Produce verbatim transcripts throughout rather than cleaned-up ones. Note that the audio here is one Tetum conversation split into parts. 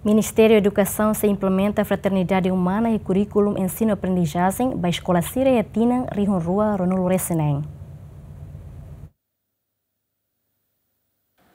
Ministériu Edukasaun sei implementa fraternidade umana iha kurríkulu ensinu-aprendizajen ba eskola sira iha tinan rihun rua ruanulu resin neen.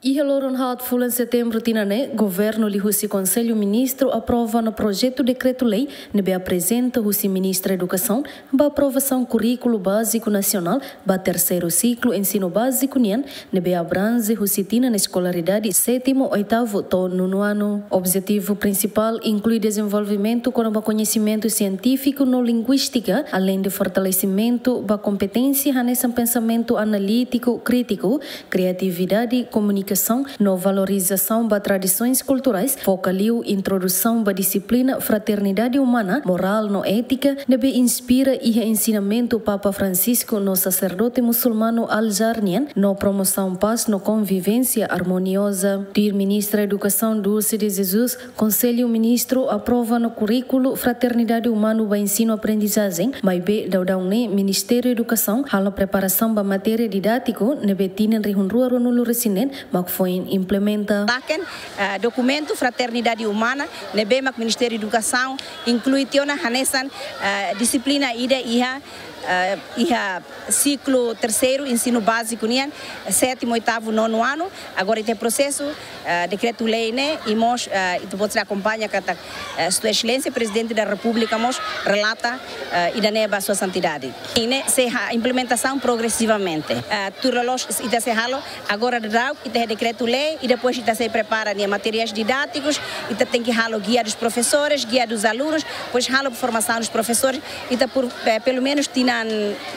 Iha loron haat fulan Setembru tinan ne'e, Governu liuhusi Konsellu Ministru aprova ona projetu dekretu-lei ne'ebé aprezenta husi Ministra Edukasaun ba aprovasaun kurríkulu báziku nasionál ba terseiru siklu ensinu báziku nian, ne'ebé abranje husi tinan eskolaridade sétimu, oitavu to'o nonu anu. Objetivu prinsipál inklui dezenvolvimentu kona-ba koñesimentu sientífiku no linguístika, aleinde fortalesimentu ba kompeténsia hanesan pensamentu analítiku krítiku, kriatividade, komunikasaun no valorizasaun ba tradisoens kulturais, foka liu introdusaun ba dixiplina fraternidade umana, morál no étika, ne'ebé inspira iha ensinamentu Papa Francisco no saserdote musulmanu Al-Azhar nian, no promosaun pás no konvivénsia armonioza. Tuir Ministra Edukasaun Dulce de Jesus, Konsellu Ministru aprova ona kurríkulu fraternidade umana ba ensinu-aprendizajen, maibé daudaun ne'e Ministériu Edukasaun halo preparasaun ba matéria didátiku ne'ebé tinan rihun rua ruanulu resin neen mak foin implementa. Taken, eh, dokumentu fraternidade umana ne'ebé mak Ministériu Edukasaun inklui tiha ona hanesan, eh, dixiplina ida iha, eh, iha siklu terseiru ensinu báziku nian, sétimu, oitavu, nonu anu. Agora ita prosesu, eh, dekretu-lei ne'e, i mós, eh, ita-boot sei akompaña katak, eh, Sua Exelénsia Prezidente da Repúblika mós relata, eh, ida-ne'e ba Sua Santidade. I ne'e sei halo implementasaun progresivamente. Eh, tuir loloos ita sei halo, agora daudaun ita iha dekretu-lei, i depois ita sei prepara nia materiais didátikus, ita tenke halo guia dos professores, guia dos alunos, depois halo formasaun dos professores, ita por, eh, pelumenus tinan,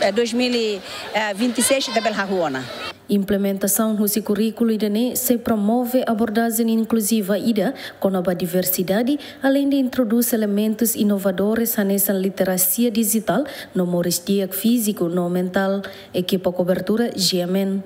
eh, dois mil e vinte e seis ita bele hahú ona. Implementasaun husi kurríkulu ida-ne'e sei promove abordajen inkluziva ida kona-ba diversidade, aleinde introdús elementus inovadores hanesan literasia dijitál no moris di'ak fíziku no mentál. Ekipa kobertura, G M N.